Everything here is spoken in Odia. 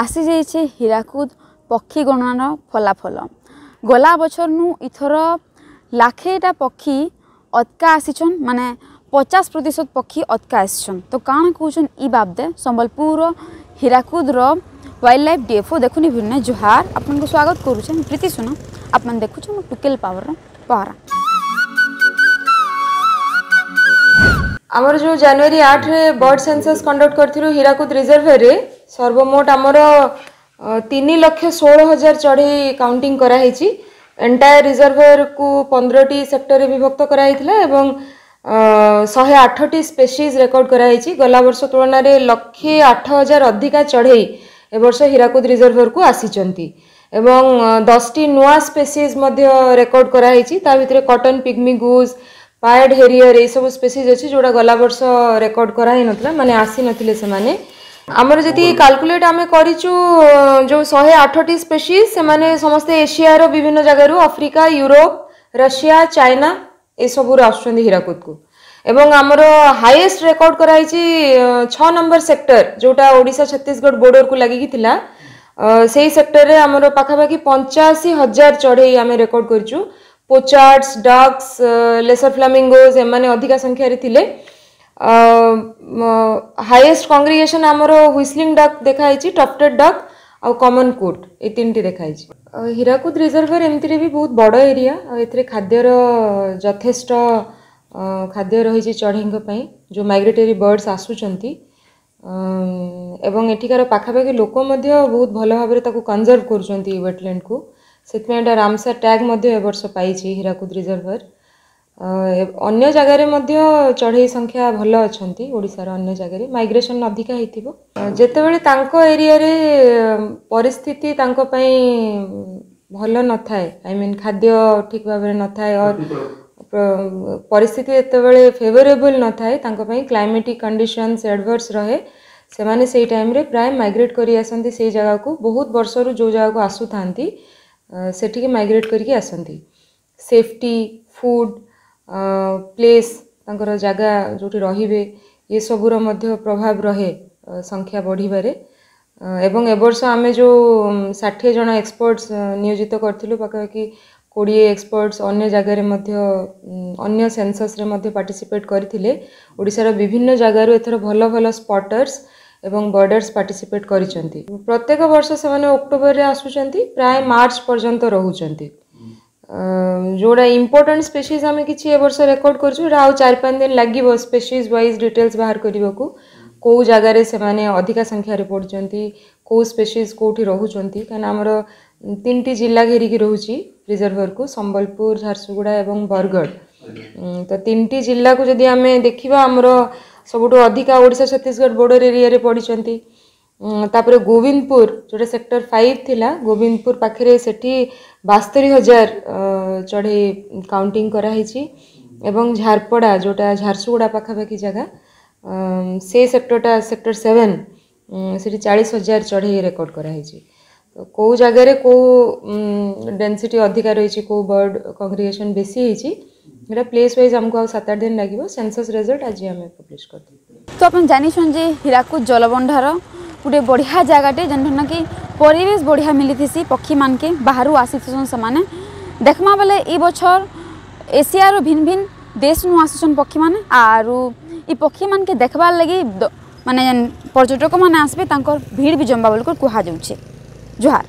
ଆସିଯାଇଛେ ହୀରାକୁଦ ପକ୍ଷୀ ଗଣନାର ଫଳାଫଳ। ଗଲା ବଛରନୁ ଇଥର ଲାଖେଟା ପକ୍ଷୀ ଅତକା ଆସିଛନ୍, ମାନେ 50% ପକ୍ଷୀ ଅତକା ଆସିଛନ୍। ତ କାଣା କହୁଛନ୍ ଇ ବାବଦେ ସମ୍ବଲପୁର ହୀରାକୁଦର ୱାଇଲ୍ଡ ଲାଇଫ୍ ଡିଏଫଓ ଦେଖୁନି ଭିନ୍ନ। ଜୁହାର, ଆପଣଙ୍କୁ ସ୍ୱାଗତ କରୁଛେ ପ୍ରୀତି ସୁନା, ଆପଣ ଦେଖୁଛନ୍ ଟୁକେଲ ପାୱାରର ପହରା। ଆମର ଯେଉଁ ଜାନୁଆରୀ 8ରେ ବର୍ଡ ସେନ୍ସସ୍ କଣ୍ଡକ୍ଟ କରିଥିଲୁ ହୀରାକୁଦ ରିଜର୍ଭରେ, ସର୍ବମୋଟ ଆମର 3,16,000 ଚଢ଼େଇ କାଉଣ୍ଟିଂ କରାହେଇଛି। ଏଣ୍ଟାୟାର ରିଜର୍ଭରକୁ 15ଟି ସେକ୍ଟରରେ ବିଭକ୍ତ କରାହେଇଥିଲା ଏବଂ 108ଟି ସ୍ପେସିଜ୍ ରେକର୍ଡ କରାହେଇଛି। ଗଲା ବର୍ଷ ତୁଳନାରେ 1,08,000 ଅଧିକା ଚଢ଼େଇ ଏ ବର୍ଷ ହୀରାକୁଦ ରିଜର୍ଭରକୁ ଆସିଛନ୍ତି ଏବଂ 10ଟି ନୂଆ ସ୍ପେସିଜ୍ ମଧ୍ୟ ରେକର୍ଡ କରାହେଇଛି। ତା ଭିତରେ cotton pygmy goose, pied harrier ଏଇସବୁ ସ୍ପେସିଜ୍ ଅଛି ଯେଉଁଟା ଗଲା ବର୍ଷ ରେକର୍ଡ କରାହେଇନଥିଲା, ମାନେ ଆସିନଥିଲେ ସେମାନେ। ଆମର ଯେତିକି କାଲକୁଲେଟ୍ ଆମେ କରିଛୁ, ଯେଉଁ 108ଟି ସ୍ପେସିଜ୍, ସେମାନେ ସମସ୍ତେ ଏସିଆର ବିଭିନ୍ନ ଜାଗାରୁ, ଆଫ୍ରିକା, ୟୁରୋପ, ରଷିଆ, ଚାଇନା ଏସବୁରୁ ଆସୁଛନ୍ତି ହୀରାକୁଦକୁ। ଏବଂ ଆମର ହାଇଏଷ୍ଟ ରେକର୍ଡ କରାହେଇଛି 6 ନମ୍ବର ସେକ୍ଟର, ଯେଉଁଟା ଓଡ଼ିଶା ଛତିଶଗଡ଼ ବର୍ଡରକୁ ଲାଗିକି ଥିଲା। ସେଇ ସେକ୍ଟରରେ ଆମର ପାଖାପାଖି 85,000 ଚଢ଼େଇ ଆମେ ରେକର୍ଡ କରିଛୁ। ପୋଚାର୍ଡସ୍, ଡକ୍ସ, ଲେସର ଫ୍ଲାମିଙ୍ଗୋଜ ଏମାନେ ଅଧିକା ସଂଖ୍ୟାରେ ଥିଲେ। ହାଇଏଷ୍ଟ କଂଗ୍ରିଗେସନ୍ ଆମର ହ୍ୱିସଲିଂ ଡକ୍ ଦେଖାହେଇଛି, ଟଫ୍ଟେଡ୍ ଡକ୍ ଆଉ କମନ୍ କୁଟ୍, ଏଇ 3ଟି ଦେଖାହେଇଛି। ହୀରାକୁଦ ରିଜର୍ଭର ଏମିତିରେ ବି ବହୁତ ବଡ଼ ଏରିଆ, ଆଉ ଏଥିରେ ଖାଦ୍ୟର ଯଥେଷ୍ଟ ଖାଦ୍ୟ ରହିଛି ଚଢ଼େଇଙ୍କ ପାଇଁ ଯେଉଁ ମାଇଗ୍ରେଟୋରୀ ବର୍ଡସ୍ ଆସୁଛନ୍ତି। ଏବଂ ଏଠିକାର ପାଖାପାଖି ଲୋକ ମଧ୍ୟ ବହୁତ ଭଲ ଭାବରେ ତାକୁ କନଜର୍ଭ କରୁଛନ୍ତି ୱେଟଲ୍ୟାଣ୍ଡକୁ, ସେଥିପାଇଁ ଏଇଟା ରାମସାର ଟ୍ୟାଗ୍ ମଧ୍ୟ ଏ ବର୍ଷ ପାଇଛି ହୀରାକୁଦ ରିଜର୍ଭର। ଅନ୍ୟ ଜାଗାରେ ମଧ୍ୟ ଚଢ଼େଇ ସଂଖ୍ୟା ଭଲ ଅଛନ୍ତି, ଓଡ଼ିଶାର ଅନ୍ୟ ଜାଗାରେ ମାଇଗ୍ରେସନ୍ ଅଧିକା ହେଇଥିବ। ଯେତେବେଳେ ତାଙ୍କ ଏରିଆରେ ପରିସ୍ଥିତି ତାଙ୍କ ପାଇଁ ଭଲ ନଥାଏ, I mean ଖାଦ୍ୟ ଠିକ୍ ଭାବରେ ନଥାଏ, ପରିସ୍ଥିତି ଯେତେବେଳେ ଫେଭରେବଲ୍ ନଥାଏ ତାଙ୍କ ପାଇଁ, କ୍ଲାଇମେଟିକ୍ କଣ୍ଡିସନ୍ସ ଆଡ଼ଭର୍ସ ରହେ, ସେମାନେ ସେଇ ଟାଇମ୍ରେ ପ୍ରାୟ ମାଇଗ୍ରେଟ୍ କରି ଆସନ୍ତି ସେଇ ଜାଗାକୁ। ବହୁତ ବର୍ଷରୁ ଯେଉଁ ଜାଗାକୁ ଆସୁଥାନ୍ତି ସେଠିକି ମାଇଗ୍ରେଟ୍ କରିକି ଆସନ୍ତି। ସେଫ୍ଟି, ଫୁଡ଼୍, ପ୍ଲେସ୍, ତାଙ୍କର ଜାଗା ଯେଉଁଠି ରହିବେ, ଏସବୁର ମଧ୍ୟ ପ୍ରଭାବ ରହେ ସଂଖ୍ୟା ବଢ଼ିବାରେ। ଏବଂ ଏ ବର୍ଷ ଆମେ ଯେଉଁ 60 ଜଣ ଏକ୍ସପର୍ଟସ୍ ନିୟୋଜିତ କରିଥିଲୁ, ପାଖାପାଖି 20 ଏକ୍ସପର୍ଟସ୍ ଅନ୍ୟ ଜାଗାରେ ମଧ୍ୟ ଅନ୍ୟ ସେନ୍ସସ୍ରେ ମଧ୍ୟ ପାର୍ଟିସିପେଟ୍ କରିଥିଲେ। ଓଡ଼ିଶାର ବିଭିନ୍ନ ଜାଗାରୁ ଏଥର ଭଲ ଭଲ ସ୍ପଟର୍ସ ଏବଂ ବର୍ଡର୍ସ ପାର୍ଟିସିପେଟ୍ କରିଛନ୍ତି। ପ୍ରତ୍ୟେକ ବର୍ଷ ସେମାନେ ଅକ୍ଟୋବରରେ ଆସୁଛନ୍ତି, ପ୍ରାୟ ମାର୍ଚ୍ଚ ପର୍ଯ୍ୟନ୍ତ ରହୁଛନ୍ତି। ଯେଉଁଟା ଇମ୍ପୋର୍ଟାଣ୍ଟ ସ୍ପେସିଜ୍ ଆମେ କିଛି ଏ ବର୍ଷ ରେକର୍ଡ କରିଛୁ, ଏଇଟା ଆଉ 4-5 ଦିନ ଲାଗିବ ସ୍ପେସିଜ୍ ୱାଇଜ୍ ଡିଟେଲ୍ସ ବାହାର କରିବାକୁ, କେଉଁ ଜାଗାରେ ସେମାନେ ଅଧିକା ସଂଖ୍ୟାରେ ପଡ଼ୁଛନ୍ତି, କେଉଁ ସ୍ପେସିଜ୍ କେଉଁଠି ରହୁଛନ୍ତି। କାହିଁକିନା ଆମର 3ଟି ଜିଲ୍ଲା ଘେରିକି ରହୁଛି ରିଜର୍ଭରକୁ, ସମ୍ବଲପୁର, ଝାରସୁଗୁଡ଼ା ଏବଂ ବରଗଡ଼। ତ 3ଟି ଜିଲ୍ଲାକୁ ଯଦି ଆମେ ଦେଖିବା, ଆମର ସବୁଠୁ ଅଧିକା ଓଡ଼ିଶା ଛତିଶଗଡ଼ ବର୍ଡର ଏରିଆରେ ପଡ଼ିଛନ୍ତି। ତାପରେ ଗୋବିନ୍ଦପୁର ଯେଉଁଟା ସେକ୍ଟର 5 ଥିଲା, ଗୋବିନ୍ଦପୁର ପାଖରେ ସେଠି 72,000 ଚଢ଼େଇ କାଉଣ୍ଟିଂ କରାହେଇଛି। ଏବଂ ଝାରପଡ଼ା ଯେଉଁଟା ଝାରସୁଗୁଡ଼ା ପାଖାପାଖି ଜାଗା, ସେ ସେକ୍ଟରଟା ସେକ୍ଟର 7, ସେଠି 40,000 ଚଢ଼େଇ ରେକର୍ଡ କରାହେଇଛି। ତ କେଉଁ ଜାଗାରେ କେଉଁ ଡେନ୍ସିଟି ଅଧିକା ରହିଛି, କେଉଁ ବର୍ଡ କଂଗ୍ରିଗେସନ୍ ବେଶୀ ହେଇଛି, ଏଇଟା ପ୍ଲେସ୍ ୱାଇଜ୍ ଆମକୁ ଆଉ 7-8 ଦିନ ଲାଗିବ। ସେନ୍ସସ୍ ରେଜଲ୍ଟ ଆଜି ଆମେ ପବ୍ଲିଶ କରିଦେବୁ। ତ ଆପଣ ଜାଣିଛନ୍ ଯେ ହୀରାକୁଦ ଜଳଭଣ୍ଡାର ଗୋଟେ ବଢ଼ିଆ ଜାଗାଟେ, ଯେନ୍ଠା କି ପରିବେଶ ବଢ଼ିଆ ମିଳିଥିସି ପକ୍ଷୀମାନକେ, ବାହାରୁ ଆସିଥିସନ୍ ସେମାନେ। ଦେଖ୍ମା ବେଲେ ଇ ବଛର ଏସିଆର ଭିନ୍ନ ଭିନ୍ନ ଦେଶନୁ ଆସୁଛନ୍ ପକ୍ଷୀମାନେ, ଆରୁ ଇ ପକ୍ଷୀମାନକେ ଦେଖ୍ବାର୍ ଲାଗି ମାନେ ଯେନ୍ ପର୍ଯ୍ୟଟକମାନେ ଆସିବେ ତାଙ୍କର ଭିଡ଼ ବି ଜମ୍ବା ବୋଲିକରି କୁହାଯାଉଛେ। ଜୁହାର।